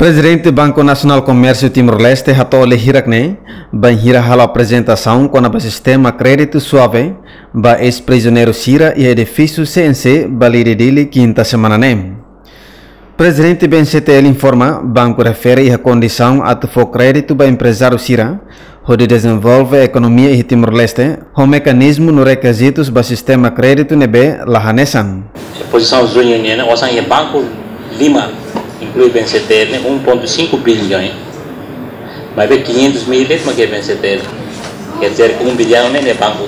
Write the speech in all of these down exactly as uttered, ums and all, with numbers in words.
Prezidente Banku Nasionál Komérsiu Timor-Leste hato'o lia hirak ne'e, bainhira halo aprezentasaun kona-ba sistema kréditu suave ba eis-prizioneiru sira iha edifísiu C N C, Balide, Dili, kinta semana ne'e. Prezidente B N C T L informa, banku refere iha kondisaun atu fó kréditu ba emprezáriu sira, hodi dezenvolve ekonomia iha Timor-Leste, ho mekanizmu no rekizitus ba sistema kréditu ne'ebé la hanesan. Pozisaun juñu nian ne'e, osan iha banku lima, inklui B N C T L ne'e, um ponto cinco bilhões. Maibé quinhentos mil de'it mak iha B N C T L. Quer dizer que um bilhão ne'e, ne'e banku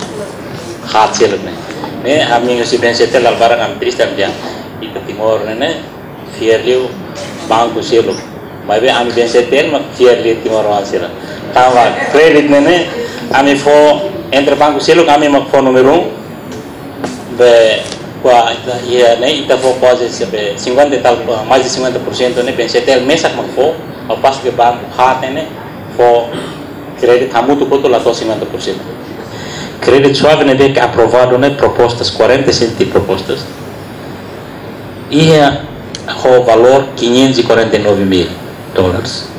haat seluk ne'e. Ne'e, ami husi B N C T L, dala barak ami triste, ami dehan, ita Timor ne'e, ne'e, fiar liu banku seluk. Maibé ami B N C T L mak fiar liu timoroan sira. Tanba kréditu ne'e, ne'e, ami fó entre banku seluk, ami mak fó númeru um. Be, kua ita, iha ne'e, ita fó kuaze se be cinquenta e tal, mais de cinquenta por cento ne'e B N C T L mesak mak fó, ao passo que banku haat ne'e, ne'e, fó kréditu hamutuk hotu la to'o cinquenta por cento. Kréditu suave ne'ebé ke aprovadu ne'e, propostas, quarenta e sete propostas. Iha ho valór quinhentos e quarenta e nove mil dólares.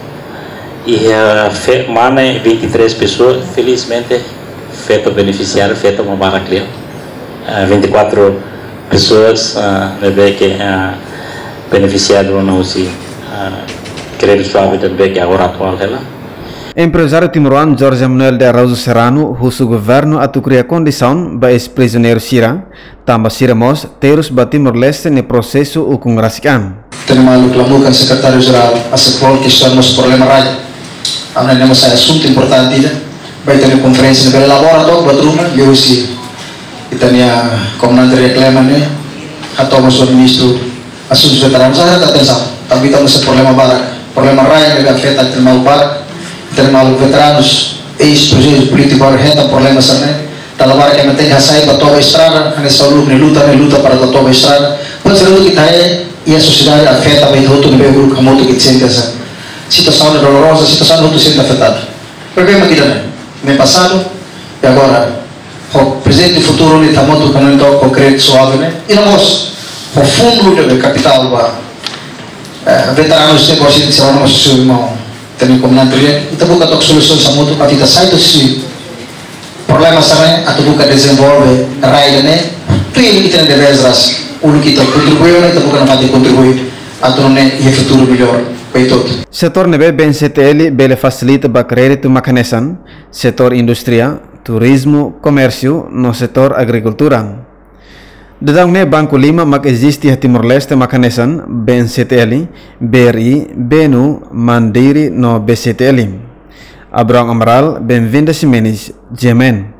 Iha fe-, mane vinte e três pessoas, felizmente, feto benefisiáriu, feto mak barak liu. Ah, vinte e quatro pessoas, ah, ne'ebé ke, ah, benefisiadu ona husi, ah, kréditu suave ne'ebé ke agora atuál hela. Emprezáriu timoroan Jorge Manuel de Araújo Serrano husu governu atu kria kondisaun ba eis-prizioneiru sira, tanba sira mós terus ba Timor-Leste nia prosesu ukun rasik an. Ita-nia maluk Lamuka, Sekretáriu Jerál, ASEPROL, kestaun mós problema rai. Ami ne'e mós asuntu importante ida. Ba ita-nia konferénsia ne'e bele elabora to'o ba ruma, liuhusi ita-nia komandante reklama ne'e, hato'o mós ba Ministru Asuntus Veteranus, haree atensaun. Tanba ita mós iha problema barak. Problema rai ne'ebé afeta ita-nia maluk barak. Ita-nia maluk veteranus, eis-prezu polítiku barak hetan problema hanesan ne'e. Dala barak ema tenke hasai ba toba estrada, hanesan uluk nia luta, nia luta para toba estrada. Pode ser que ita iha sosiedade afeta ba ita hotu ne'ebé uluk hamutuk ita sente hanesan. Situasaun ne'e doloroza, situasaun hotu sente afetadu. Problema ida-ne'e, ne'e pasadu, i agora, ho prezente, futuru ne'e ita hamutuk kona-ba kréditu suave ne'e, i no mós, ho fundu de kapitál ba, eh, veteranus ne'e, por exemplo, se no mós su irmaun, ita-nia komandante, ita buka took solusaun hamutuk, atu ita sai husi problema hanesan ne'e, atu buka dezenvolve rai ne'e, tuir ita-nia debés ras, uluk ita kontribui, ita buka nafatin kontribui, atu nune'e iha futuru mellór ba ita hotu. Setór ne'ebé B N C T L bele fasilita ba kréditu mak hanesan, setór indústria, turizmu, komérsiu, no setór agrikultura. Daudaun ne'e banku lima mak eziste iha Timor-Leste mak hanesan, B N C T L, B R I, B N U, Mandiri no B C T L. Abraão Amaral, Benvinda Ximenes, G M N.